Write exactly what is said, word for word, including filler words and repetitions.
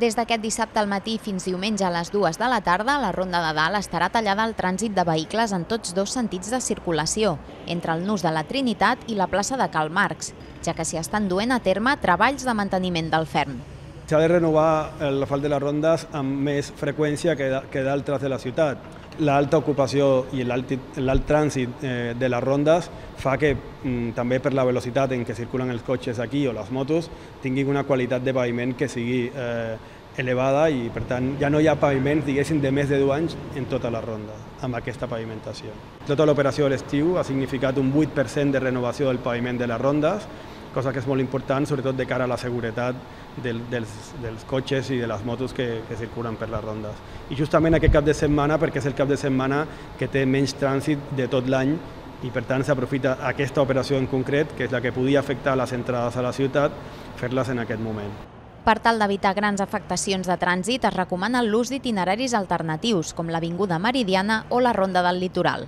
Des d'aquest dissabte al matí fins diumenge a les dues de la tarda, la Ronda de Dalt estarà tallada al trànsit de vehicles en tots dos sentits de circulació, entre el nus de la Trinitat i la plaça de Karl Marx, ja que s'hi estan duent a terme treballs de manteniment del ferm. S'ha de renovar l'asfalt de les rondes amb més freqüència que d'altres de la ciutat. L'alta ocupació i l'alt trànsit de les rondes fa que també per la velocitat en què circulen els cotxes aquí o les motos tinguin una qualitat de paviment que sigui elevada i per tant ja no hi ha paviments diguéssim de més de deu anys en tota la ronda amb aquesta pavimentació. Tota l'operació de l'estiu ha significat un vuit per cent de renovació del paviment de les rondes, cosa que és molt important, sobretot de cara a la seguretat del, dels, dels cotxes i de les motos que, que circulen per les rondes. I justament aquest cap de setmana, perquè és el cap de setmana que té menys trànsit de tot l'any i per tant s'aprofita aquesta operació en concret, que és la que podia afectar les entrades a la ciutat, fer-les en aquest moment. Per tal d'evitar grans afectacions de trànsit, es recomana l'ús d'itineraris alternatius, com l'Avinguda Meridiana o la Ronda del Litoral.